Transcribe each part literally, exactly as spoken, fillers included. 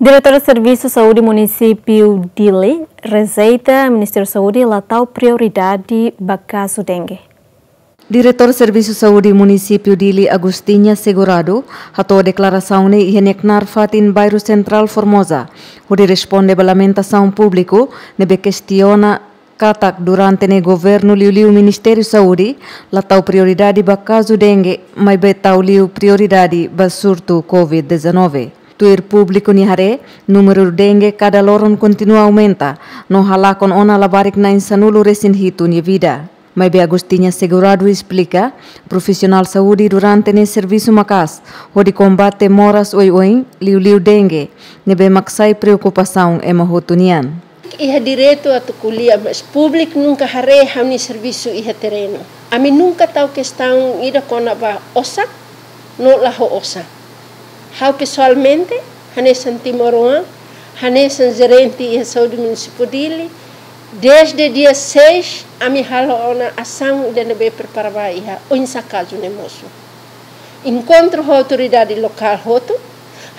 Diretór Servisu Saúde Munisípiu Dili rejeita Ministériu Saúde la tau prioridade ba kazu dengue. Diretór Servisu Saúde Munisípiu Dili, Agostinha Segurado, hato'o deklarasaun ne'e iha nia knaar fatin Bairru Sentrál Formosa, hodi responde ba lamentasaun públiku ne'ebé kestiona katak durante ne'e governu liuliu Ministériu Saúde la tau prioridade ba kazu dengue, maibé tau liu prioridade ba surtu covid dezanove. Tuir públiku nia haree, númeru dengue kada loron kontinua aumenta, no halakon ona labarik na'in sanulu-resin-hitu nia vida. Maibé Agostinha Segurado esplika, profisionál saúde durante ne'e servisu maka'as hodi kombate moras oioin, liuliu dengue, ne'ebé mak sai preokupasaun ema hotu nian. Iha direitu atu ko'alia, mas públiku nunka haree ha'u-nia servisu iha terrenu. Ami nunka tau kestaun ida kona-ba osan no la ho osan. Ha'u pesoalmente, hanesan timoroan, hanesan jerente iha Saúde Munisípiu Dili, desde dia seis, ami halo ona asaun ida ne'ebé prepara ba iha oinsá kazu ne'e mosu. Enkontru ho autoridade lokál hotu,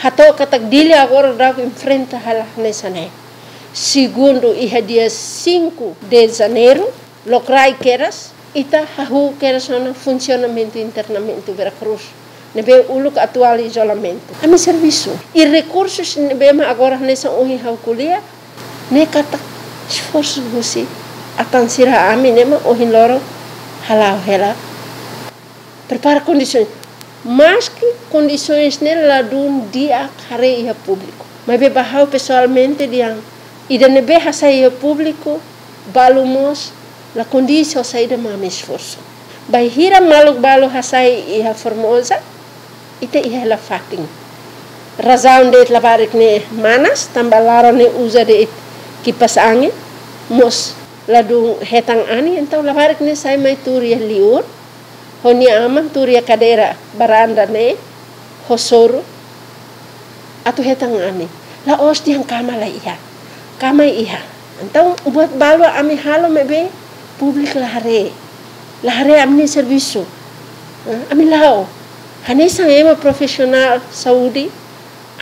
hato'o katak Dili agora daudaun enfrenta hela hanesan ne'e. Segundu, iha dia cinco de janeiro, lokraik kedas, ita hahú kedas ona funsionamentu internamentu Vera Cruz, ne'ebé uluk atuál izolamentu. Ami servisu. I rekursus ne'ebé mak agora hanesan ohin ha'u ko'alia, ne'e katak esforsu husi atan sira, ami ne'e mak ohin loron hala'o hela. Prepara kondisoens. Maski kondisoens ne'e ladún di'ak haree iha públiku, maibé ba ha'u pesoalmente dehan ida ne'ebé hasai iha públiku, balu mós la kondiz ho saida mak ami esforsu. Bainhira maluk balu hasai iha Formosa, ita iha hela fatin. Razaun de'it labarik ne'e manas, tanba laran ne'e uza de'it kipas angin, mós ladún hetan anin, entaun labarik ne'e sai mai tuur iha liur, ho nia aman tuur iha kadeira baranda ne'e, ho soru, atu hetan anin. La'ós dehan kama la iha. Kama iha. Entaun, buat balu ami halo maibé públiku la haree. La haree ami-nia servisu. Eh, ami la'o. Hanesan ema profisionál saúde,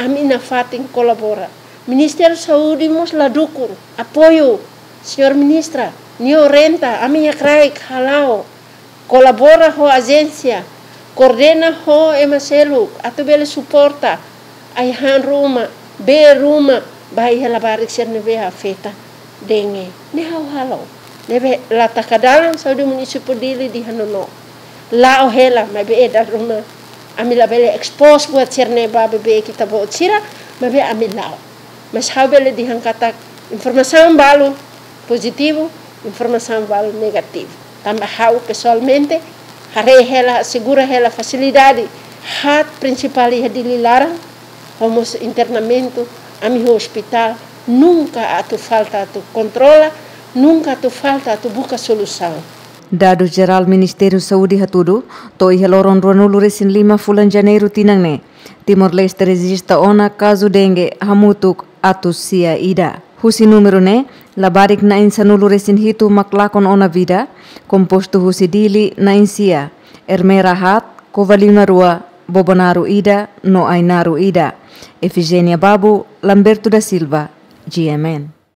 ami nafatin kolabora. Ministériu Saúde mós la dukun, apoiu, señór ministra, nia orienta, ami iha kraik hala'o, kolabora ho ajénsia, koordena ho ema seluk, atu bele suporta ai-han ruma, bee ruma, ba iha labarik sira ne'ebé afeta dengue. Ne'e ha'u halo. Ne'ebé la taka dalan Saúde Munisípiu Dili dehan nonook. La'o hela, maibé dala ruma ami labele expose buat sira-ne'e ba bebé ita-boot sira, maibé ami la'o. Mas ha'u bele dehan katak informasaun balu pozitivu, informasaun balu negativu. Tanba ha'u pesoalmente haree hela, asegura hela fasilidade haat prinsipál iha Dili laran, ho mós internamentu, ami ho ospitál, nunka atu falta atu kontrola, nunka atu falta atu buka solusaun. Dadus jerál Ministériu Saúde hatudu, to'o iha loron ruanulu-resin-lima fulan Janeiru tinan ne'e, Timor-Leste rejista ona kazu dengue hamutuk atus sia ida. Husi númeru ne'e, labarik na'in sanulu-resin-hitu mak lakon ona vida, kompostu husi Dili na'in sia, Ermera haat, Covalima rua, Bobonaro ida, no Ainaro ida. Efigénia Babu, Lamberto da Silva, G M N.